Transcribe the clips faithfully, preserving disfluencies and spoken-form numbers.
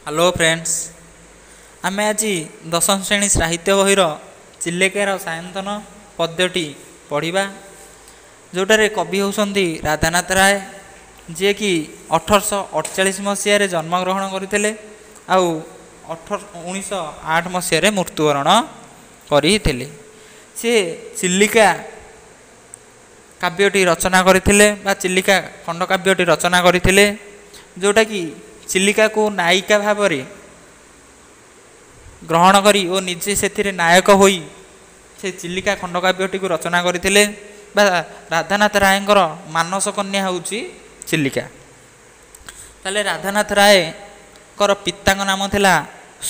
Hello friends, ଆମେ ଆଜି ଦଶମ ଶ୍ରେଣୀ ସାହିତ୍ୟ ବହିର ଚିଲିକାର ସାୟନ୍ତନ ପଦ୍ୟଟି ପଢ଼ିବା, ଯେଉଁଟାରେ କବି ହେଉଛନ୍ତି ରାଧାନାଥ ରାୟ, ଯିଏକି ଅଠରଶହ ଅଠଚାଳିଶ ମସିହାରେ ଜନ୍ମଗ୍ରହଣ କରିଥିଲେ ଆଉ ଅଠର ଉଣେଇଶହ ଆଠ ମସିହାରେ ମୃତ୍ୟୁବରଣ କରିଥିଲେ। ସିଏ ଚିଲିକା କାବ୍ୟଟି ରଚନା କରିଥିଲେ ବା ଚିଲିକା ଖଣ୍ଡକାବ୍ୟଟି ରଚନା କରିଥିଲେ, ଯେଉଁଟାକି ଚିଲିକାକୁ ନାୟିକା ଭାବରେ ଗ୍ରହଣ କରି ଓ ନିଜେ ସେଥିରେ ନାୟକ ହୋଇ ସେ ଚିଲିକା ଖଣ୍ଡକାବ୍ୟଟିକୁ ରଚନା କରିଥିଲେ। ବା ରାଧାନାଥ ରାୟଙ୍କର ମାନସ କନ୍ୟା ହେଉଛି ଚିଲିକା। ତାହେଲେ ରାଧାନାଥ ରାୟଙ୍କର ପିତାଙ୍କ ନାମ ଥିଲା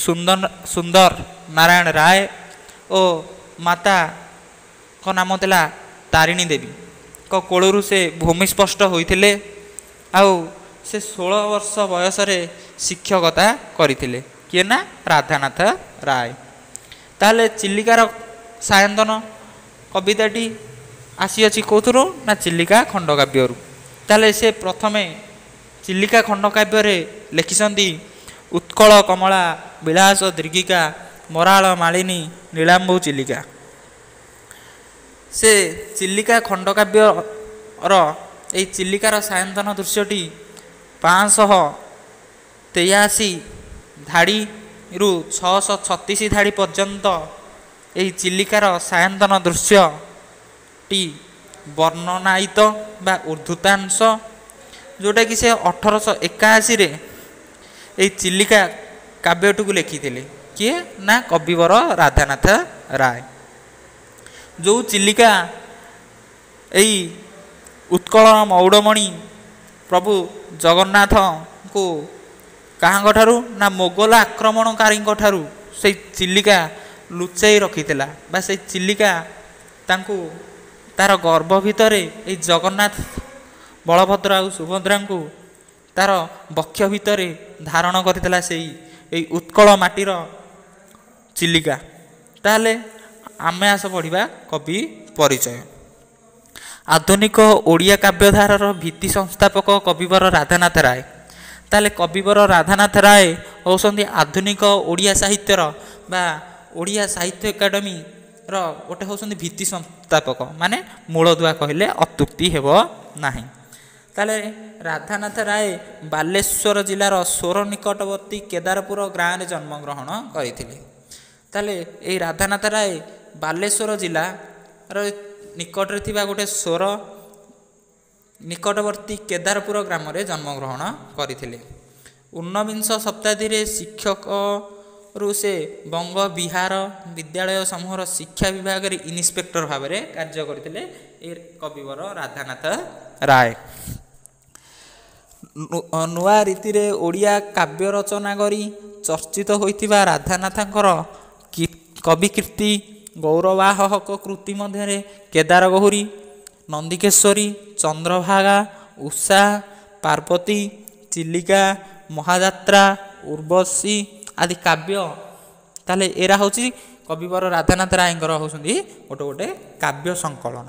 ସୁନ୍ଦର ସୁନ୍ଦର ନାରାୟଣ ରାୟ ଓ ମାତାଙ୍କ ନାମ ଥିଲା ତାରିଣୀ ଦେବୀଙ୍କ କୋଳରୁ ସେ ଭୂମିସ୍ପଷ୍ଟ ହୋଇଥିଲେ। ଆଉ ସେ ଷୋହଳ ବର୍ଷ ବୟସରେ ଶିକ୍ଷକତା କରିଥିଲେ। କିଏ ନା ରାଧାନାଥ ରାୟ। ତାହେଲେ ଚିଲିକାର ସାୟନ୍ତନ କବିତାଟି ଆସିଅଛି କେଉଁଥିରୁ ନା ଚିଲିକା ଖଣ୍ଡକାବ୍ୟରୁ। ତାହେଲେ ସେ ପ୍ରଥମେ ଚିଲିକା ଖଣ୍ଡକାବ୍ୟରେ ଲେଖିଛନ୍ତି ଉତ୍କଳ କମଳା ବିଳାସ ଦୀର୍ଘିକା ମରାଳ ମାଳିନୀ ନୀଳାମ୍ବୁ ଚିଲିକା। ସେ ଚିଲିକା ଖଣ୍ଡକାବ୍ୟର ଏଇ ଚିଲିକାର ସାୟନ୍ତନ ଦୃଶ୍ୟଟି ପାଞ୍ଚଶହ ତେୟାଅଶୀ ଧାଡ଼ିରୁ ଛଅଶହ ଛତିଶ ଧାଡ଼ି ପର୍ଯ୍ୟନ୍ତ ଏହି ଚିଲିକାର ସାୟନ୍ତନ ଦୃଶ୍ୟଟି ବର୍ଣ୍ଣନାୟିତ ବା ଉଦ୍ଧୃତାଂଶ, ଯେଉଁଟାକି ସେ ଅଠରଶହ ଏକାଅଶୀରେ ଏଇ ଚିଲିକା କାବ୍ୟଟିକୁ ଲେଖିଥିଲେ। କିଏ ନା କବିବର ରାଧାନାଥ ରାୟ। ଯେଉଁ ଚିଲିକା ଏଇ ଉତ୍କଳ ମଉଡ଼ମଣି ପ୍ରଭୁ ଜଗନ୍ନାଥଙ୍କୁ କାହାଙ୍କ ଠାରୁ ନା ମୋଗଲ ଆକ୍ରମଣକାରୀଙ୍କ ଠାରୁ ସେଇ ଚିଲିକା ଲୁଚାଇ ରଖିଥିଲା, ବା ସେଇ ଚିଲିକା ତାଙ୍କୁ ତାର ଗର୍ଭ ଭିତରେ ଏଇ ଜଗନ୍ନାଥ ବଳଭଦ୍ର ଆଉ ସୁଭଦ୍ରାଙ୍କୁ ତାର ବକ୍ଷ ଭିତରେ ଧାରଣ କରିଥିଲା ସେଇ ଏଇ ଉତ୍କଳ ମାଟିର ଚିଲିକା। ତାହେଲେ ଆମେ ଆସ ପଢ଼ିବା କବି ପରିଚୟ। ଆଧୁନିକ ଓଡ଼ିଆ କାବ୍ୟଧାରାର ଭିତ୍ତି ସଂସ୍ଥାପକ କବିବର ରାଧାନାଥ ରାୟ। ତାହେଲେ କବିବର ରାଧାନାଥ ରାୟ ହେଉଛନ୍ତି ଆଧୁନିକ ଓଡ଼ିଆ ସାହିତ୍ୟର ବା ଓଡ଼ିଆ ସାହିତ୍ୟ ଏକାଡେମୀର ଗୋଟେ ହେଉଛନ୍ତି ଭିତ୍ତି ସଂସ୍ଥାପକ, ମାନେ ମୂଳଦୁଆ କହିଲେ ଅତ୍ୟୁକ୍ତି ହେବ ନାହିଁ। ତାହେଲେ ରାଧାନାଥ ରାୟ ବାଲେଶ୍ୱର ଜିଲ୍ଲାର ସୋର ନିକଟବର୍ତ୍ତୀ କେଦାରପୁର ଗାଁରେ ଜନ୍ମଗ୍ରହଣ କରିଥିଲେ। ତାହେଲେ ଏଇ ରାଧାନାଥ ରାୟ ବାଲେଶ୍ୱର ଜିଲ୍ଲାର ନିକଟରେ ଥିବା ଗୋଟେ ସୋର ନିକଟବର୍ତ୍ତୀ କେଦାରପୁର ଗ୍ରାମରେ ଜନ୍ମଗ୍ରହଣ କରିଥିଲେ। ଊନବିଂଶ ଶତାବ୍ଦୀରେ ଶିକ୍ଷକରୁ ସେ ବଙ୍ଗ ବିହାର ବିଦ୍ୟାଳୟ ସମୂହର ଶିକ୍ଷା ବିଭାଗରେ ଇନ୍ସପେକ୍ଟର ଭାବରେ କାର୍ଯ୍ୟ କରିଥିଲେ ଏ କବିବର ରାଧାନାଥ ରାୟ। ନୂଆ ରୀତିରେ ଓଡ଼ିଆ କାବ୍ୟ ରଚନା କରି ଚର୍ଚ୍ଚିତ ହୋଇଥିବା ରାଧାନାଥଙ୍କର କବି କୀର୍ତ୍ତି ଗୌରବାହକ କୃତି ମଧ୍ୟରେ କେଦାର ଗୌରୀ, ନନ୍ଦିକେଶ୍ୱରୀ, ଚନ୍ଦ୍ରଭାଗା, ଉଷା, ପାର୍ବତୀ, ଚିଲିକା, ମହାଯାତ୍ରା, ଉର୍ବଶୀ ଆଦି କାବ୍ୟ। ତାହେଲେ ଏରା ହେଉଛି କବିବର ରାଧାନାଥ ରାୟଙ୍କର ହେଉଛନ୍ତି ଗୋଟେ ଗୋଟେ କାବ୍ୟ ସଂକଳନ।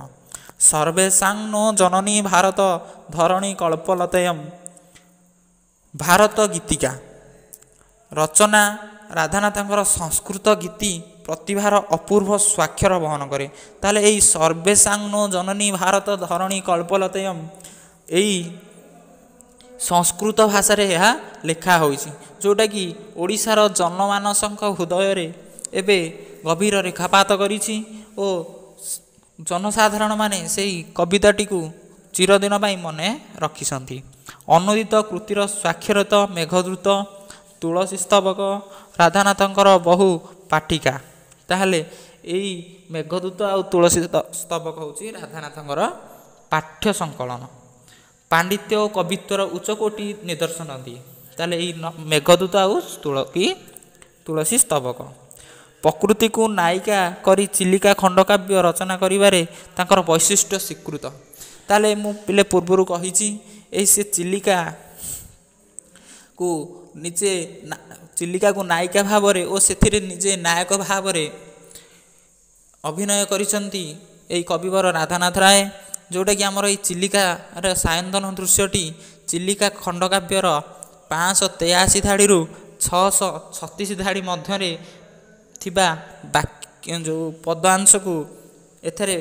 ସର୍ବେଷାଂ ନୋ ଜନନୀ ଭାରତ ଧରଣୀ କଳ୍ପଲତୟମ୍ ଭାରତ ଗୀତିକା ରଚନା ରାଧାନାଥଙ୍କର ସଂସ୍କୃତ ଗୀତି ପ୍ରତିଭାର ଅପୂର୍ବ ସ୍ୱାକ୍ଷର ବହନ କରେ। ତାହେଲେ ଏଇ ସର୍ବେଷାଂ ନୋ ଜନନୀ ଭାରତ ଧରଣୀ କଳ୍ପଲତୟମ୍ ଏଇ ସଂସ୍କୃତ ଭାଷାରେ ଏହା ଲେଖା ହୋଇଛି, ଯେଉଁଟାକି ଓଡ଼ିଶାର ଜନମାନସଙ୍କ ହୃଦୟରେ ଏବେ ଗଭୀର ରେଖାପାତ କରିଛି ଓ ଜନସାଧାରଣମାନେ ସେଇ କବିତାଟିକୁ ଚିରଦିନ ପାଇଁ ମନେ ରଖିଛନ୍ତି। ଅନୁଦିତ କୃତିର ସ୍ୱାକ୍ଷରିତ ମେଘଦୂତ, ତୁଳସୀ ସ୍ତବକ ରାଧାନାଥଙ୍କର ବହୁ ପାଠିକା। ତାହେଲେ ଏଇ ମେଘଦୂତ ଆଉ ତୁଳସୀ ସ୍ତବକ ହେଉଛି ରାଧାନାଥଙ୍କର ପାଠ୍ୟ ସଂକଳନ। ପାଣ୍ଡିତ୍ୟ ଓ କବିତ୍ୱର ଉଚ୍ଚକୋଟୀ ନିଦର୍ଶନ ଦିଏ। ତାହେଲେ ଏଇ ମେଘଦୂତ ଆଉ ତୁଳସୀ ତୁଳସୀ ସ୍ତବକ ପ୍ରକୃତିକୁ ନାୟିକା କରି ଚିଲିକା ଖଣ୍ଡକାବ୍ୟ ରଚନା କରିବାରେ ତାଙ୍କର ବୈଶିଷ୍ଟ୍ୟ ସ୍ୱୀକୃତ। ତାହେଲେ ମୁଁ ପିଲେ ପୂର୍ବରୁ କହିଛି, ଏଇ ସେ ଚିଲିକାକୁ ନିଜେ ଚିଲିକାକୁ ନାୟିକା ଭାବରେ ଓ ସେଥିରେ ନିଜେ ନାୟକ ଭାବରେ ଅଭିନୟ କରିଛନ୍ତି ଏଇ କବିବର ରାଧାନାଥ ରାୟ, ଯେଉଁଟାକି ଆମର ଏଇ ଚିଲିକାର ସାୟନ୍ତନ ଦୃଶ୍ୟଟି ଚିଲିକା ଖଣ୍ଡକାବ୍ୟର ପାଞ୍ଚଶହ ତେୟାଅଶୀ ଧାଡ଼ିରୁ ଛଅଶହ ଛତିଶ ଧାଡ଼ି ମଧ୍ୟରେ ଥିବା ବାକ୍ୟ ଯେଉଁ ପଦାଂଶକୁ ଏଥିରେ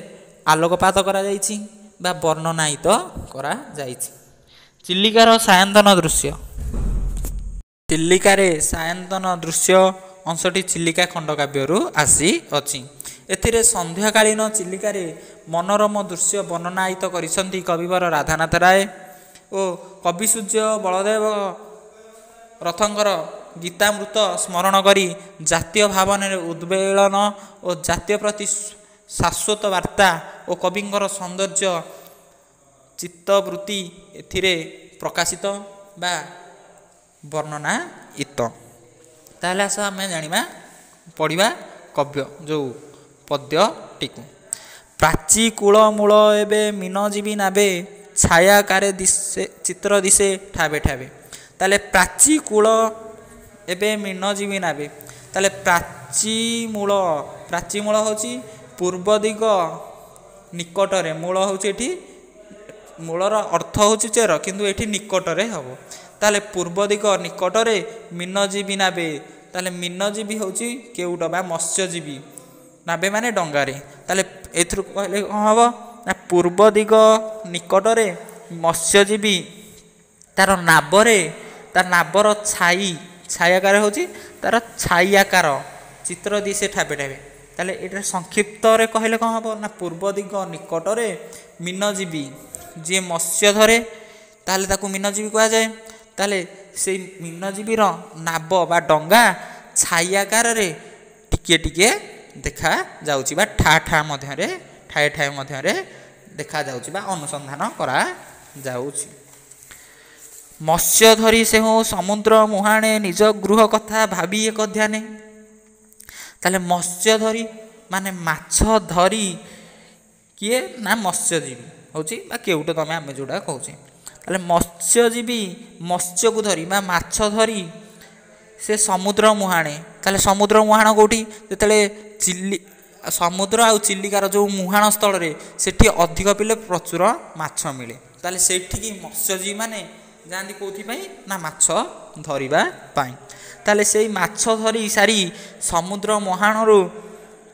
ଆଲୋକପାତ କରାଯାଇଛି ବା ବର୍ଣ୍ଣନାୟିତ କରାଯାଇଛି। ଚିଲିକାର ସାୟନ୍ତନ ଦୃଶ୍ୟ। ଚିଲିକାରେ ସାୟନ୍ତନ ଦୃଶ୍ୟ ଅଂଶଟି ଚିଲିକା ଖଣ୍ଡକାବ୍ୟରୁ ଆସିଅଛି। ଏଥିରେ ସନ୍ଧ୍ୟାକାଳୀନ ଚିଲିକାରେ ମନୋରମ ଦୃଶ୍ୟ ବର୍ଣ୍ଣନାୟିତ କରିଛନ୍ତି କବିବର ରାଧାନାଥ ରାୟ ଓ କବିସୂର୍ଯ୍ୟ ବଳଦେବ ରଥଙ୍କର ଗୀତାମୃତ ସ୍ମରଣ କରି ଜାତୀୟ ଭାବନାରେ ଉଦ୍ବେଳନ ଓ ଜାତୀୟ ପ୍ରତି ଶାଶ୍ୱତ ବାର୍ତ୍ତା ଓ କବିଙ୍କର ସୌନ୍ଦର୍ଯ୍ୟ ଚିତ୍ତବୃତ୍ତି ଏଥିରେ ପ୍ରକାଶିତ ବା ବର୍ଣ୍ଣନାୟିତ। ତାହେଲେ ଆସ ଆମେ ଜାଣିବା, ପଢ଼ିବା କବ୍ୟ ଯେଉଁ ପଦ୍ୟଟିକୁ। ପ୍ରାଚୀ କୂଳ ମୂଳ ଏବେ ମୀନଜୀବୀ ନାବେ, ଛାୟାକାରେ ଦିଶେ ଚିତ୍ର ଦିଶେ ଠାବେ ଠାବେ। ତାହେଲେ ପ୍ରାଚୀ କୂଳ ଏବେ ମୀନଜୀବୀ ନାବେ। ତାହେଲେ ପ୍ରାଚୀ ମୂଳ, ପ୍ରାଚୀ ମୂଳ ହେଉଛି ପୂର୍ବ ଦିଗ ନିକଟରେ। ମୂଳ ହେଉଛି ଏଠି, ମୂଳର ଅର୍ଥ ହେଉଛି ଚେର, କିନ୍ତୁ ଏଠି ନିକଟରେ ହେବ। ତାହେଲେ ପୂର୍ବ ଦିଗ ନିକଟରେ ମୀନଜୀବୀ ନାବେ। ତାହେଲେ ମୀନଜୀବୀ ହେଉଛି କେଉଟ ବା ମତ୍ସ୍ୟଜୀବୀ, ନାବେ ମାନେ ଡଙ୍ଗାରେ। ତାହେଲେ ଏଥିରୁ କହିଲେ କ'ଣ ହେବ ନା ପୂର୍ବ ଦିଗ ନିକଟରେ ମତ୍ସ୍ୟଜୀବୀ ତାର ନାବରେ, ତାର ନାବର ଛାଇ, ଛାଇ ଆକାର ହେଉଛି ତାର ଛାଇ ଆକାର ଚିତ୍ର ଦିଶେ ଠାବେ ଠାବେ। ତାହେଲେ ଏଇଟା ସଂକ୍ଷିପ୍ତରେ କହିଲେ କ'ଣ ହେବ ନା ପୂର୍ବ ଦିଗ ନିକଟରେ ମୀନଜୀବୀ ଯିଏ ମତ୍ସ୍ୟ ଧରେ ତାହେଲେ ତାକୁ ମୀନଜୀବୀ କୁହାଯାଏ। ତାହେଲେ ସେଇ ମୀନଜୀବୀର ନାବ ବା ଡଙ୍ଗା ଛାଇ ଆକାରରେ ଟିକିଏ ଟିକିଏ ଦେଖାଯାଉଛି ବା ଠା ଠା ମଧ୍ୟରେ, ଠାଏ ଠାଏ ମଧ୍ୟରେ ଦେଖାଯାଉଛି ବା ଅନୁସନ୍ଧାନ କରାଯାଉଛି। ମତ୍ସ୍ୟ ଧରି ସେହୁ ସମୁଦ୍ର ମୁହାଣେ, ନିଜ ଗୃହ କଥା ଭାବି ଏକ ଧ୍ୟାନେ। ତାହେଲେ ମତ୍ସ୍ୟ ଧରି ମାନେ ମାଛ ଧରି କିଏ ନା ମତ୍ସ୍ୟଜୀବୀ ହେଉଛି ବା କେଉଟ ତମେ ଆମେ ଯେଉଁଟା କହୁଛେ। ତାହେଲେ ମତ୍ସ୍ୟଜୀବୀ ମତ୍ସ୍ୟକୁ ଧରି ବା ମାଛ ଧରି ସେ ସମୁଦ୍ର ମୁହାଣେ। ତାହେଲେ ସମୁଦ୍ର ମୁହାଣ କେଉଁଠି? ଯେତେବେଳେ ଚିଲି ସମୁଦ୍ର ଆଉ ଚିଲିକାର ଯେଉଁ ମୁହାଣ ସ୍ଥଳରେ ସେଠି ଅଧିକ ପିଲେ ପ୍ରଚୁର ମାଛ ମିଳେ। ତାହେଲେ ସେଇଠିକି ମତ୍ସ୍ୟଜୀବୀମାନେ ଯାଆନ୍ତି କେଉଁଥିପାଇଁ ନା ମାଛ ଧରିବା ପାଇଁ। ତାହେଲେ ସେଇ ମାଛ ଧରି ସାରି ସମୁଦ୍ର ମୁହାଣରୁ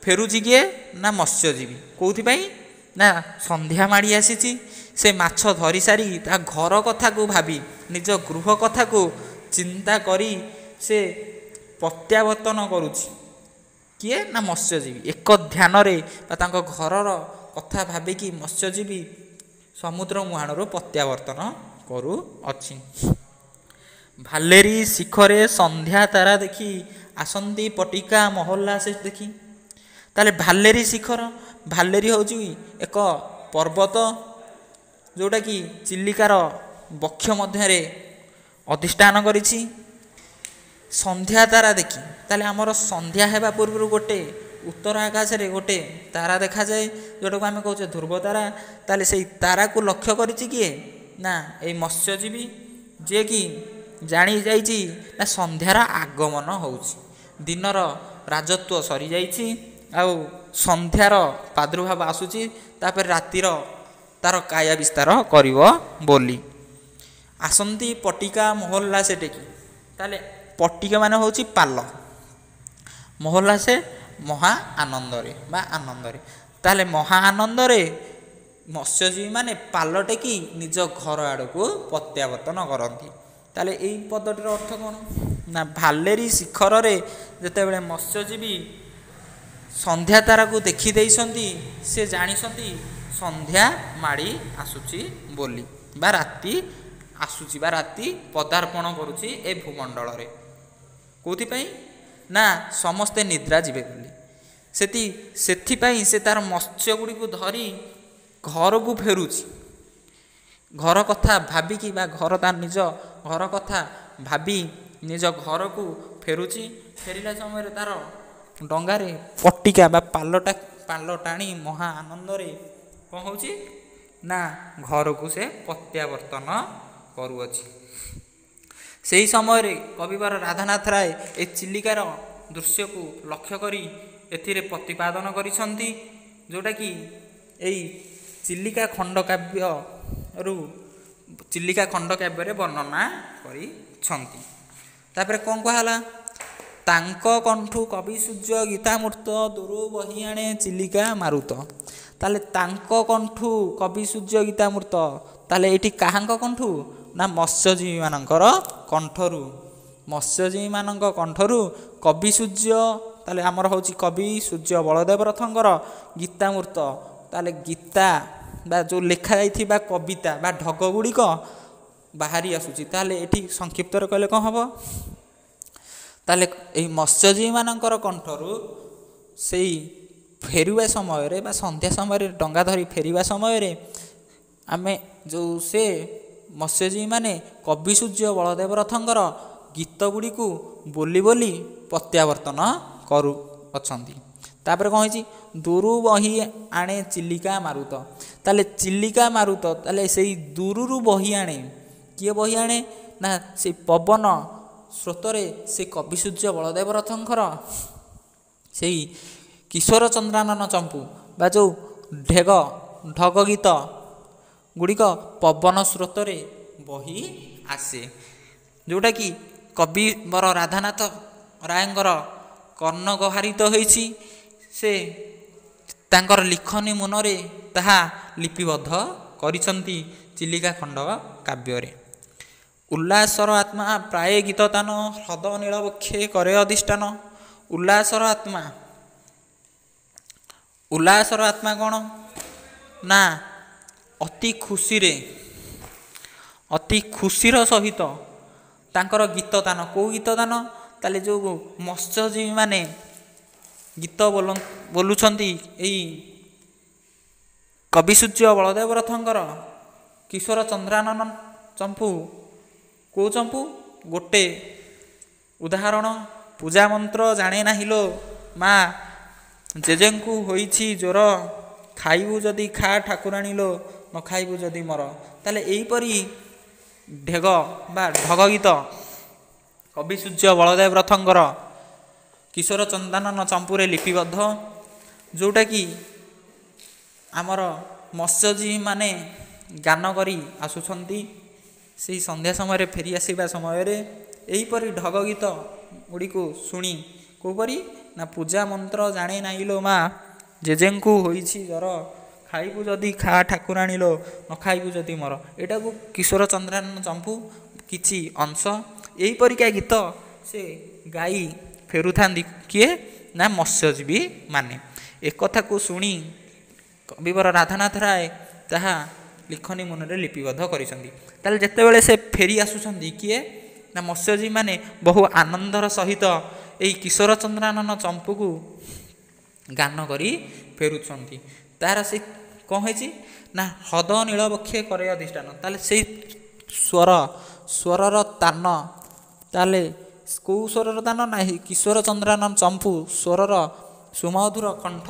ଫେରୁଛି କିଏ ନା ମତ୍ସ୍ୟଜୀବୀ। କେଉଁଥିପାଇଁ ନା ସନ୍ଧ୍ୟା ମାଡ଼ି ଆସିଛି, ସେ ମାଛ ଧରି ସାରି ତା ଘର କଥାକୁ ଭାବି, ନିଜ ଗୃହ କଥାକୁ ଚିନ୍ତା କରି ସେ ପ୍ରତ୍ୟାବର୍ତ୍ତନ କରୁଛି। କିଏ ନା ମତ୍ସ୍ୟଜୀବୀ। ଏକ ଧ୍ୟାନରେ ବା ତାଙ୍କ ଘରର କଥା ଭାବିକି ମତ୍ସ୍ୟଜୀବୀ ସମୁଦ୍ର ମୁହାଣରୁ ପ୍ରତ୍ୟାବର୍ତ୍ତନ କରୁଅଛି। ଭାଲେରୀ ଶିଖରେ ସନ୍ଧ୍ୟା ତାରା ଦେଖି, ଆସନ୍ତି ପଟିକା ମହଲ୍ଲା ସେ ଦେଖି। ତାହେଲେ ଭାଲେରୀ ଶିଖର, ଭାଲେରୀ ହେଉଛି ଏକ ପର୍ବତ ଯେଉଁଟାକି ଚିଲିକାର ବକ୍ଷ ମଧ୍ୟରେ ଅଧିଷ୍ଠାନ କରିଛି। ସନ୍ଧ୍ୟା ତାରା ଦେଖି, ତାହେଲେ ଆମର ସନ୍ଧ୍ୟା ହେବା ପୂର୍ବରୁ ଗୋଟେ ଉତ୍ତର ଆକାଶରେ ଗୋଟେ ତାରା ଦେଖାଯାଏ ଯେଉଁଟାକୁ ଆମେ କହୁଛେ ଧ୍ରୁବ ତାରା। ତାହେଲେ ସେଇ ତାରାକୁ ଲକ୍ଷ୍ୟ କରିଛି କିଏ ନା ଏଇ ମତ୍ସ୍ୟଜୀବୀ, ଯିଏକି ଜାଣି ଯାଇଛି ନା ସନ୍ଧ୍ୟାର ଆଗମନ ହେଉଛି, ଦିନର ରାଜତ୍ୱ ସରିଯାଇଛି ଆଉ ସନ୍ଧ୍ୟାର ପ୍ରାଦୁର୍ଭାବ ଆସୁଛି, ତାପରେ ରାତିର ତାର କାୟା ବିସ୍ତାର କରିବ ବୋଲି। ଆସନ୍ତି ପଟିକା ମହଲ୍ଲା ସେଠିକି। ତାହେଲେ ପଟିକା ମାନେ ହେଉଛି ପାଲ, ମହଲ୍ଲା ସେ ମହା ଆନନ୍ଦରେ ବା ଆନନ୍ଦରେ। ତାହେଲେ ମହା ଆନନ୍ଦରେ ମତ୍ସ୍ୟଜୀବୀମାନେ ପାଲ ଟେକି ନିଜ ଘର ଆଡ଼କୁ ପ୍ରତ୍ୟାବର୍ତ୍ତନ କରନ୍ତି। ତାହେଲେ ଏଇ ପଦଟିର ଅର୍ଥ କ'ଣ ନା ଭାଲେରୀ ଶିଖରରେ ଯେତେବେଳେ ମତ୍ସ୍ୟଜୀବୀ ସନ୍ଧ୍ୟା ତାରାକୁ ଦେଖିଦେଇଛନ୍ତି, ସେ ଜାଣିଛନ୍ତି ସନ୍ଧ୍ୟା ମାଡ଼ି ଆସୁଛି ବୋଲି ବା ରାତି ଆସୁଛି ବା ରାତି ପଦାର୍ପଣ କରୁଛି ଏ ଭୂମଣ୍ଡଳରେ। କେଉଁଥିପାଇଁ ନା ସମସ୍ତେ ନିଦ୍ରା ଯିବେ ବୋଲି। ସେଠି ସେଥିପାଇଁ ସେ ତାର ମତ୍ସ୍ୟ ଗୁଡ଼ିକୁ ଧରି ଘରକୁ ଫେରୁଛି। ଘର କଥା ଭାବିକି ବା ଘର ତା ନିଜ ଘର କଥା ଭାବି ନିଜ ଘରକୁ ଫେରୁଛି। ଫେରିଲା ସମୟରେ ତାର ଡଙ୍ଗାରେ ପଟିକା ବା ପାଲଟା ପାଲ ଟାଣି ମହା ଆନନ୍ଦରେ କ'ଣ ହେଉଛି ନା ଘରକୁ ସେ ପ୍ରତ୍ୟାବର୍ତ୍ତନ କରୁଅଛି। ସେହି ସମୟରେ କବିବର ରାଧାନାଥ ରାୟ ଏ ଚିଲିକାର ଦୃଶ୍ୟକୁ ଲକ୍ଷ୍ୟ କରି ଏଥିରେ ପ୍ରତିପାଦନ କରିଛନ୍ତି, ଯେଉଁଟାକି ଏଇ ଚିଲିକା ଖଣ୍ଡକାବ୍ୟରୁ ଚିଲିକା ଖଣ୍ଡକାବ୍ୟରେ ବର୍ଣ୍ଣନା କରିଛନ୍ତି। ତାପରେ କ'ଣ କୁହାହେଲା? ତାଙ୍କ କଣ୍ଠୁ କବି ସୂର୍ଯ୍ୟ ଗୀତାମୃତ ଦୂରୁ ବହି ଆଣେ ଚିଲିକା ମାରୁତ। ତାହେଲେ ତାଙ୍କ କଣ୍ଠୁ କବି ସୂର୍ଯ୍ୟ ଗୀତାମୃତ, ତାହେଲେ ଏଇଠି କାହାଙ୍କ କଣ୍ଠୁ? ନା ମତ୍ସ୍ୟଜୀବୀମାନଙ୍କର କଣ୍ଠରୁ, ମତ୍ସ୍ୟଜୀବୀମାନଙ୍କ କଣ୍ଠରୁ କବି ସୂର୍ଯ୍ୟ, ତାହେଲେ ଆମର ହେଉଛି କବି ସୂର୍ଯ୍ୟ ବଳଦେବ ରଥଙ୍କର ଗୀତାମୃତ, ତାହେଲେ ଗୀତା ବା ଯେଉଁ ଲେଖା ଯାଇଥିବା କବିତା ବା ଢଗ ଗୁଡ଼ିକ ବାହାରି ଆସୁଛି। ତାହେଲେ ଏଠି ସଂକ୍ଷିପ୍ତରେ କହିଲେ କ'ଣ ହେବ? ତାହେଲେ ଏଇ ମତ୍ସ୍ୟଜୀବୀମାନଙ୍କର କଣ୍ଠରୁ ସେଇ ଫେରିବା ସମୟରେ ବା ସନ୍ଧ୍ୟା ସମୟରେ ଡଙ୍ଗା ଧରି ଫେରିବା ସମୟରେ ଆମେ ଯେଉଁ ସେ ମତ୍ସ୍ୟଜୀବୀମାନେ କବି ସୂର୍ଯ୍ୟ ବଳଦେବ ରଥଙ୍କର ଗୀତ ଗୁଡ଼ିକୁ ବୋଲି ବୋଲି ପ୍ରତ୍ୟାବର୍ତ୍ତନ କରୁଅଛନ୍ତି। ତାପରେ କ'ଣ ହେଇଛି? ଦୂରୁ ବହି ଆଣେ ଚିଲିକା ମାରୁତ। ତାହେଲେ ଚିଲିକା ମାରୁତ, ତାହେଲେ ସେଇ ଦୂରରୁ ବହି ଆଣେ। କିଏ ବହି ଆଣେ? ନା ସେଇ ପବନ ସ୍ରୋତରେ ସେ କବି ସୂର୍ଯ୍ୟ ବଳଦେବ ରଥଙ୍କର ସେଇ କିଶୋର ଚନ୍ଦ୍ରାନନ ଚମ୍ପୁ ବା ଯେଉଁ ଢେଗ ଢଗ ଗୀତ ଗୁଡ଼ିକ ପବନ ସ୍ରୋତରେ ବହି ଆସେ, ଯେଉଁଟାକି କବିବର ରାଧାନାଥ ରାୟଙ୍କର କର୍ଣ୍ଣଗହାରିତ ହୋଇଛି। ସେ ତାଙ୍କର ଲିଖନୀ ମୁନରେ ତାହା ଲିପିବଦ୍ଧ କରିଛନ୍ତି ଚିଲିକା ଖଣ୍ଡ କାବ୍ୟରେ। ଉଲ୍ଲାସର ଆତ୍ମା ପ୍ରାୟ ଗୀତ ତାନ ହ୍ରଦ ନୀଳ ବକ୍ଷେ କରେ ଅଧିଷ୍ଠାନ। ଉଲ୍ଲାସର ଆତ୍ମା, ଉଲ୍ଲାସର ଆତ୍ମା କ'ଣ? ନା ଅତି ଖୁସିରେ, ଅତି ଖୁସିର ସହିତ ତାଙ୍କର ଗୀତ ତାନ। କେଉଁ ଗୀତ ତାନ? ତାହେଲେ ଯେଉଁ ମତ୍ସ୍ୟଜୀବୀମାନେ ଗୀତ ବୋଲୁଛନ୍ତି ଏଇ କବି ସୂର୍ଯ୍ୟ ବଳଦେବ ରଥଙ୍କର କିଶୋର ଚନ୍ଦ୍ରାନନ ଚମ୍ପୁ। କେଉଁ ଚମ୍ପୁ? ଗୋଟେ ଉଦାହରଣ, ପୂଜା ମନ୍ତ୍ର ଜାଣେ ନାହିଁ ଲୋ ମା, ଜେଜେଙ୍କୁ ହୋଇଛି ଜ୍ୱର, ଖାଇବୁ ଯଦି ଖା ଠାକୁରାଣୀ ଲୋ, ନ ଖାଇବୁ ଯଦି ମର। ତାହେଲେ ଏହିପରି ଢେଗ ବା ଢଗ ଗୀତ କବି ସୂର୍ଯ୍ୟ ବଳଦେବ ରଥଙ୍କର କିଶୋର ଚନ୍ଦାନନ ଚମ୍ପୁରେ ଲିପିବଦ୍ଧ, ଯେଉଁଟାକି ଆମର ମତ୍ସ୍ୟଜୀବୀମାନେ ଗାନ କରି ଆସୁଛନ୍ତି ସେଇ ସନ୍ଧ୍ୟା ସମୟରେ ଫେରି ଆସିବା ସମୟରେ ଏହିପରି ଢଗ ଗୀତ ଗୁଡ଼ିକୁ ଶୁଣି। କେଉଁପରି? ନା ପୂଜା ମନ୍ତ୍ର ଜାଣେ ନାହିଁ ଲୋ ମା, ଜେଜେଙ୍କୁ ହୋଇଛି ଜ୍ୱର, ଖାଇବୁ ଯଦି ଖା ଠାକୁରାଣୀ ଲୋ, ନ ଖାଇବୁ ଯଦି ମର। ଏଇଟାକୁ କିଶୋର ଚନ୍ଦ୍ରାନନ ଚମ୍ପୁ କିଛି ଅଂଶ ଏହିପରିକା ଗୀତ ସେ ଗାଇ ଫେରୁଥାନ୍ତି। କିଏ? ନା ମତ୍ସ୍ୟଜୀବୀ ମାନେ। ଏକଥାକୁ ଶୁଣି କବିବର ରାଧାନାଥ ରାୟ ତାହା ଲିଖନୀ ମୁନରେ ଲିପିବଦ୍ଧ କରିଛନ୍ତି। ତାହେଲେ ଯେତେବେଳେ ସେ ଫେରି ଆସୁଛନ୍ତି, କିଏ? ନା ମତ୍ସ୍ୟଜୀବୀମାନେ ବହୁ ଆନନ୍ଦର ସହିତ ଏଇ କିଶୋର ଚନ୍ଦ୍ରାନନ ଚମ୍ପୁକୁ ଗାନ କରି ଫେରୁଛନ୍ତି। ତାର ସେ କ'ଣ ହେଇଛି? ନା ହ୍ରଦ ନୀଳ ବକ୍ଷେ କରେ ଅଧିଷ୍ଠାନ। ତାହେଲେ ସେଇ ସ୍ୱର, ସ୍ୱରର ତାନ, ତାହେଲେ କେଉଁ ସ୍ୱରର ତାନ? ନା କିଶୋର ଚନ୍ଦ୍ରାନନ ଚମ୍ପୁ ସ୍ୱରର ସୁମଧୁର କଣ୍ଠ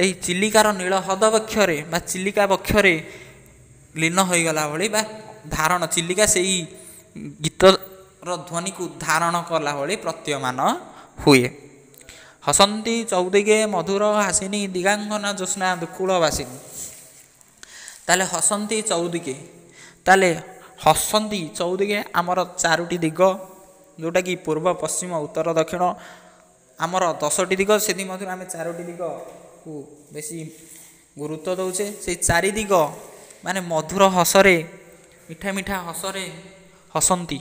ଏହି ଚିଲିକାର ନୀଳ ହ୍ରଦ ବକ୍ଷରେ ବା ଚିଲିକା ବକ୍ଷରେ ଲୀନ ହୋଇଗଲା ଭଳି ବା ଧାରଣ, ଚିଲିକା ସେଇ ଗୀତର ଧ୍ୱନିକୁ ଧାରଣ କଲା ଭଳି ପ୍ରତୀୟମାନ ହୁଏ। ହସନ୍ତି ଚଉଦିଗେ ମଧୁର ହାସିନୀ ଦିଗାଙ୍ଗନା ଜ୍ୟୋତ୍ସ୍ନା ଦୁକୁଳ ବାସିନୀ। ତାହେଲେ ହସନ୍ତି ଚଉଦିଗେ, ତାହେଲେ ହସନ୍ତି ଚଉଦିଗେ ଆମର ଚାରୋଟି ଦିଗ, ଯେଉଁଟାକି ପୂର୍ବ, ପଶ୍ଚିମ, ଉତ୍ତର, ଦକ୍ଷିଣ, ଆମର ଦଶଟି ଦିଗ, ସେଥିମଧ୍ୟରୁ ଆମେ ଚାରୋଟି ଦିଗକୁ ବେଶୀ ଗୁରୁତ୍ୱ ଦେଉଛେ। ସେଇ ଚାରି ଦିଗ ମାନେ ମଧୁର ହସରେ, ମିଠା ମିଠା ହସରେ ହସନ୍ତି।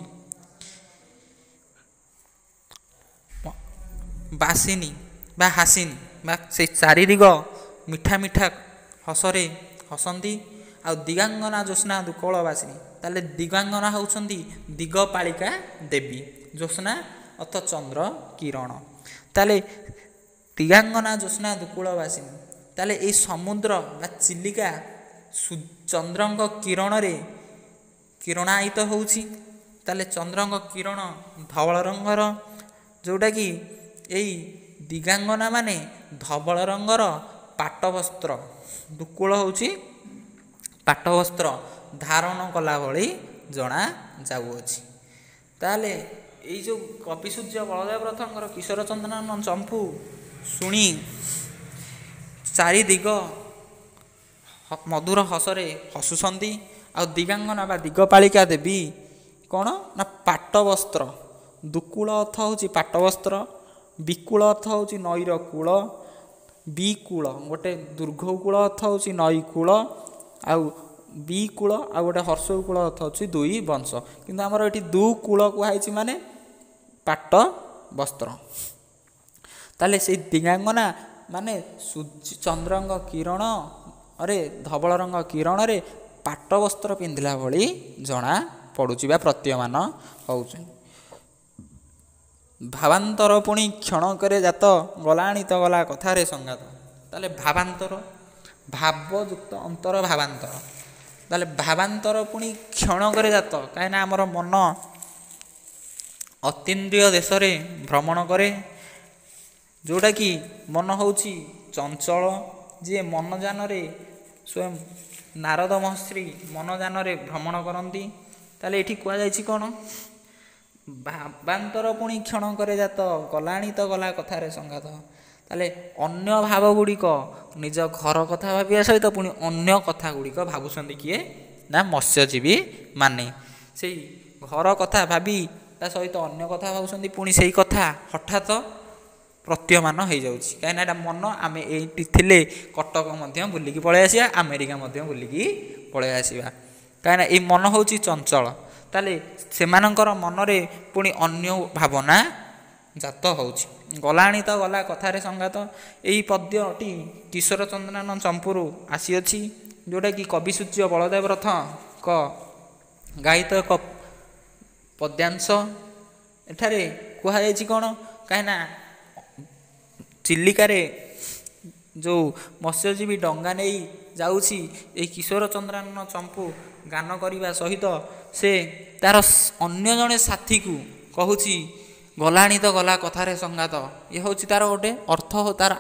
ବାସିନୀ ବା ହାସିନୀ ବା ସେଇ ଚାରି ଦିଗ ମିଠା ମିଠା ହସରେ ହସନ୍ତି। ଆଉ ଦିଗାଙ୍ଗନା ଜ୍ୟୋତ୍ସ୍ନା ଦୁକଳ ବାସିନୀ, ତାହେଲେ ଦିଗାଙ୍ଗନା ହେଉଛନ୍ତି ଦିଗପାଳିକା ଦେବୀ, ଜ୍ୟୋତ୍ସ୍ନା ଅର୍ଥ ଚନ୍ଦ୍ର କିରଣ। ତାହେଲେ ଦିଗାଙ୍ଗନା ଜ୍ୟୋତ୍ସ୍ନା ଦୁକୂଳ ବାସିନୀ, ତାହେଲେ ଏଇ ସମୁଦ୍ର ବା ଚିଲିକା ଚନ୍ଦ୍ରଙ୍କ କିରଣରେ କିରଣାୟିତ ହେଉଛି। ତାହେଲେ ଚନ୍ଦ୍ରଙ୍କ କିରଣ ଧବଳ ରଙ୍ଗର, ଯେଉଁଟାକି ଏଇ ଦିଗାଙ୍ଗନା ମାନେ ଧବଳ ରଙ୍ଗର ପାଟବସ୍ତ୍ର, ଦୁକୂଳ ହେଉଛି ପାଟବସ୍ତ୍ର ଧାରଣ କଲା ଭଳି ଜଣା ଯାଉଅଛି। ତାହେଲେ ଏଇ ଯେଉଁ କବି ସୂର୍ଯ୍ୟ ବଳଦେବ ରଥଙ୍କର କିଶୋର ଚନ୍ଦ୍ରାନନ ଚମ୍ପୁ ଶୁଣି ଚାରି ଦିଗ ମଧୁର ହସରେ ହସୁଛନ୍ତି। ଆଉ ଦିଗାଙ୍ଗନା ବା ଦିଗପାଳିକା ଦେବୀ କ'ଣ? ନା ପାଟବସ୍ତ୍ର, ଦୁକୁଳ ଅର୍ଥ ହେଉଛି ପାଟବସ୍ତ୍ର, ବିକୁଳ ଅର୍ଥ ହେଉଛି ନଈର କୂଳ, ବିକୂଳ ଗୋଟେ ଦୀର୍ଘ କୂଳ ଅର୍ଥ ହେଉଛି ନଈ କୂଳ, ଆଉ ବିକୂଳ ଆଉ ଗୋଟେ ହର୍ଷଉ କୂଳ ଅର୍ଥ ହେଉଛି ଦୁଇ ବଂଶ। କିନ୍ତୁ ଆମର ଏଠି ଦୁକୂଳ କୁହାଯାଇଛି ମାନେ ପାଟ ବସ୍ତ୍ର। ତାହେଲେ ସେଇ ଦିଗାଙ୍ଗନା ମାନେ ସୂର୍ଯ୍ୟ ଚନ୍ଦ୍ରଙ୍କ କିରଣରେ, ଧବଳ ରଙ୍ଗ କିରଣରେ ପାଟ ବସ୍ତ୍ର ପିନ୍ଧିଲା ଭଳି ଜଣା ପଡ଼ୁଛି ବା ପ୍ରତୀୟମାନ ହେଉଛି। ଭାବାନ୍ତର ପୁଣି କ୍ଷଣକରେ ଜାତ, ଗଲାଣି ତ ଗଲା କଥାରେ ସଙ୍ଗାତ। ତାହେଲେ ଭାବାନ୍ତର, ଭାବଯୁକ୍ତ ଅନ୍ତର ଭାବାନ୍ତର। ତାହେଲେ ଭାବାନ୍ତର ପୁଣି କ୍ଷଣକରେ ଜାତ, କାହିଁକିନା ଆମର ମନ ଅତୀନ୍ଦ୍ରିୟ ଦେଶରେ ଭ୍ରମଣ କରେ, ଯେଉଁଟାକି ମନ ହେଉଛି ଚଞ୍ଚଳ। ଯିଏ ମନଯାନରେ ସ୍ୱୟଂ ନାରଦ ମହର୍ଷି ମନଯାନରେ ଭ୍ରମଣ କରନ୍ତି। ତାହେଲେ ଏଠି କୁହାଯାଇଛି କ'ଣ? ଭାବାନ୍ତର ପୁଣି କ୍ଷଣକରେ ଜାତ, ଗଲାଣି ତ ଗଲା କଥାରେ ସଙ୍ଗାତ। ତାହେଲେ ଅନ୍ୟ ଭାବ ଗୁଡ଼ିକ ନିଜ ଘର କଥା ଭାବିବା ସହିତ ପୁଣି ଅନ୍ୟ କଥା ଗୁଡ଼ିକ ଭାବୁଛନ୍ତି କିଏ ନା ମତ୍ସ୍ୟଜୀବୀ ମାନେ। ସେଇ ଘର କଥା ଭାବି ତା ସହିତ ଅନ୍ୟ କଥା ଭାବୁଛନ୍ତି, ପୁଣି ସେଇ କଥା ହଠାତ୍ ପ୍ରତୀୟମାନ ହେଇଯାଉଛି, କାହିଁକିନା ଏଇଟା ମନ। ଆମେ ଏଇଠି ଥିଲେ କଟକ ମଧ୍ୟ ବୁଲିକି ପଳେଇ ଆସିବା, ଆମେରିକା ମଧ୍ୟ ବୁଲିକି ପଳେଇ ଆସିବା, କାହିଁକିନା ଏଇ ମନ ହେଉଛି ଚଞ୍ଚଳ। ତାହେଲେ ସେମାନଙ୍କର ମନରେ ପୁଣି ଅନ୍ୟ ଭାବନା ଜାତ ହେଉଛି। ଗଲାଣି ତ ଗଲା କଥାରେ ସଙ୍ଗାତ, ଏଇ ପଦ୍ୟଟି କିଶୋର ଚନ୍ଦ୍ରାନ ଚମ୍ପୁରୁ ଆସିଅଛି, ଯେଉଁଟାକି କବି ସୂର୍ଯ୍ୟ ବଳଦେବ ରଥଙ୍କ ଗାୟିତ ଏକ ପଦ୍ୟାଂଶ। ଏଠାରେ କୁହାଯାଇଛି କ'ଣ? କାହିଁକିନା ଚିଲିକାରେ ଯେଉଁ ମତ୍ସ୍ୟଜୀବୀ ଡଙ୍ଗା ନେଇ ଯାଉଛି, ଏଇ କିଶୋର ଚନ୍ଦ୍ରାନନ ଚମ୍ପୁ ଗାନ କରିବା ସହିତ ସେ ତାର ଅନ୍ୟ ଜଣେ ସାଥୀକୁ କହୁଛି, ଗଲାଣି ତ ଗଲା କଥାରେ ସଙ୍ଗାତ। ଇଏ ହେଉଛି ତାର ଗୋଟେ ଅର୍ଥ। ତାର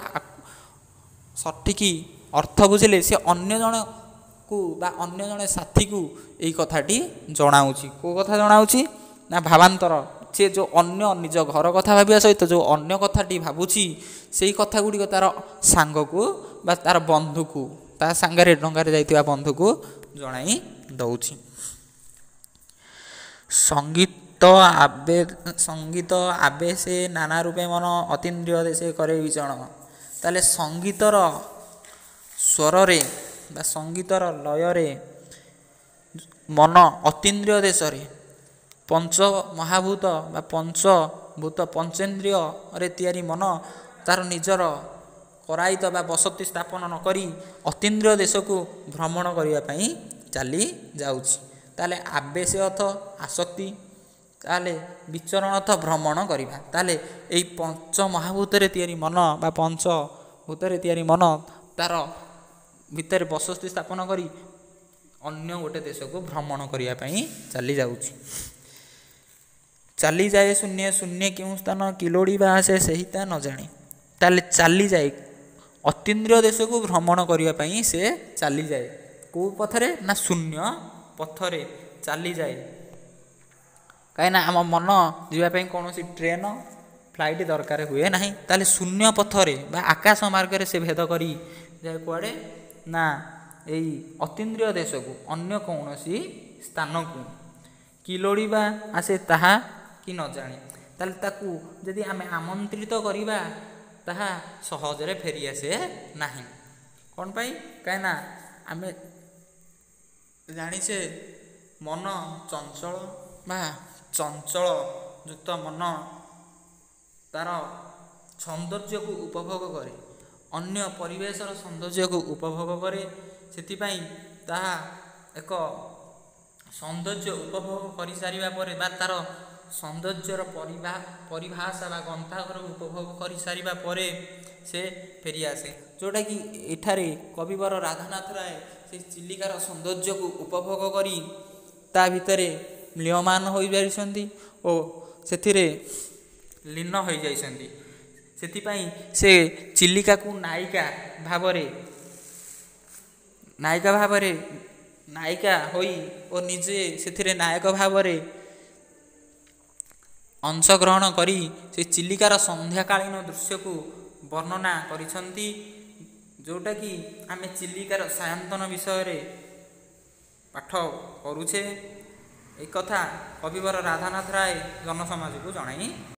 ସଠିକ୍ ଅର୍ଥ ବୁଝିଲେ ସେ ଅନ୍ୟ ଜଣକୁ ବା ଅନ୍ୟ ଜଣେ ସାଥୀକୁ ଏଇ କଥାଟି ଜଣାଉଛି। କେଉଁ କଥା ଜଣାଉଛି ନା ଭାବାନ୍ତର, ସେ ଯେଉଁ ଅନ୍ୟ ନିଜ ଘର କଥା ଭାବିବା ସହିତ ଯେଉଁ ଅନ୍ୟ କଥାଟି ଭାବୁଛି, ସେଇ କଥା ଗୁଡ଼ିକ ତାର ସାଙ୍ଗକୁ ବା ତାର ବନ୍ଧୁକୁ, ତା ସାଙ୍ଗରେ ଡଙ୍ଗାରେ ଯାଇଥିବା ବନ୍ଧୁକୁ ଜଣାଇ ଦେଉଛି। ସଙ୍ଗୀତ ଆବେ ସଙ୍ଗୀତ ଆବେଶେ ନାନା ରୂପେ ମନ ଅତୀନ୍ଦ୍ରିୟ ଦେଶେ କରେ ବିଚରଣ। ତାହେଲେ ସଙ୍ଗୀତର ସ୍ୱରରେ ବା ସଙ୍ଗୀତର ଲୟରେ ମନ ଅତୀନ୍ଦ୍ରିୟ ଦେଶରେ, ପଞ୍ଚ ମହାଭୂତ ବା ପଞ୍ଚଭୂତ ପଞ୍ଚେନ୍ଦ୍ରିୟରେ ତିଆରି ମନ ତାର ନିଜର କରାୟିତ ବା ବସତି ସ୍ଥାପନ ନ କରି ଅତୀନ୍ଦ୍ରିୟ ଦେଶକୁ ଭ୍ରମଣ କରିବା ପାଇଁ ଚାଲି ଯାଉଛି। ତାହେଲେ ଆବେଶ ଅର୍ଥ ଆସକ୍ତି, ତାହେଲେ ବିଚରଣ ଅର୍ଥ ଭ୍ରମଣ କରିବା। ତାହେଲେ ଏଇ ପଞ୍ଚ ମହାଭୂତରେ ତିଆରି ମନ ବା ପଞ୍ଚଭୂତରେ ତିଆରି ମନ ତାର ଭିତରେ ବସତି ସ୍ଥାପନ କରି ଅନ୍ୟ ଗୋଟେ ଦେଶକୁ ଭ୍ରମଣ କରିବା ପାଇଁ ଚାଲି ଯାଉଛି। ଚାଲିଯାଏ ଶୂନ୍ୟ ଶୂନ୍ୟ କେଉଁ ସ୍ଥାନ କିଲୋଡ଼ି ବା ଆସେ ସେହି ତା ନ ଜାଣେ। ତାହେଲେ ଚାଲିଯାଏ ଅତୀନ୍ଦ୍ରିୟ ଦେଶକୁ ଭ୍ରମଣ କରିବା ପାଇଁ ସେ ଚାଲିଯାଏ କେଉଁ ପଥରେ ନା ଶୂନ୍ୟ ପଥରେ ଚାଲିଯାଏ, କାହିଁକିନା ଆମ ମନ ଯିବା ପାଇଁ କୌଣସି ଟ୍ରେନ୍ ଫ୍ଲାଇଟ୍ ଦରକାର ହୁଏ ନାହିଁ। ତାହେଲେ ଶୂନ୍ୟ ପଥରେ ବା ଆକାଶ ମାର୍ଗରେ ସେ ଭେଦ କରି ଯାଏ କୁଆଡ଼େ ନା ଏଇ ଅତୀନ୍ଦ୍ରିୟ ଦେଶକୁ, ଅନ୍ୟ କୌଣସି ସ୍ଥାନକୁ। କିଲୋଡ଼ି ବା ଆସେ ତାହା କି ନ ଜାଣେ। ତାହେଲେ ତାକୁ ଯଦି ଆମେ ଆମନ୍ତ୍ରିତ କରିବା ତାହା ସହଜରେ ଫେରିଆସେ ନାହିଁ। କ'ଣ ପାଇଁ? କାହିଁକିନା ଆମେ ଜାଣିଛେ ମନ ଚଞ୍ଚଳ ବା ଚଞ୍ଚଳ ଯୁକ୍ତ ମନ ତାର ସୌନ୍ଦର୍ଯ୍ୟକୁ ଉପଭୋଗ କରେ, ଅନ୍ୟ ପରିବେଶର ସୌନ୍ଦର୍ଯ୍ୟକୁ ଉପଭୋଗ କରେ। ସେଥିପାଇଁ ତାହା ଏକ ସୌନ୍ଦର୍ଯ୍ୟ ଉପଭୋଗ କରିସାରିବା ପରେ ବା ତାର ସୌନ୍ଦର୍ଯ୍ୟର ପରିଭା ପରିଭାଷା ବା ଗନ୍ତାଘରକୁ ଉପଭୋଗ କରିସାରିବା ପରେ ସେ ଫେରିଆସେ, ଯେଉଁଟାକି ଏଠାରେ କବିବର ରାଧାନାଥ ରାୟ ସେ ଚିଲିକାର ସୌନ୍ଦର୍ଯ୍ୟକୁ ଉପଭୋଗ କରି ତା ଭିତରେ ମ୍ରିୟମାଣ ହୋଇଯାଇଛନ୍ତି ଓ ସେଥିରେ ଲୀନ ହୋଇଯାଇଛନ୍ତି। ସେଥିପାଇଁ ସେ ଚିଲିକାକୁ ନାୟିକା ଭାବରେ ନାୟିକା ଭାବରେ ନାୟିକା ହୋଇ ଓ ନିଜେ ସେଥିରେ ନାୟକ ଭାବରେ ଅଂଶଗ୍ରହଣ କରି ସେ ଚିଲିକାର ସନ୍ଧ୍ୟାକାଳୀନ ଦୃଶ୍ୟକୁ ବର୍ଣ୍ଣନା କରିଛନ୍ତି, ଯେଉଁଟାକି ଆମେ ଚିଲିକାର ସାୟନ୍ତନ ବିଷୟରେ ପାଠ କରୁଛେ। ଏକଥା କବିବର ରାଧାନାଥ ରାୟ ଜନସମାଜକୁ ଜଣାଇଥିଲେ।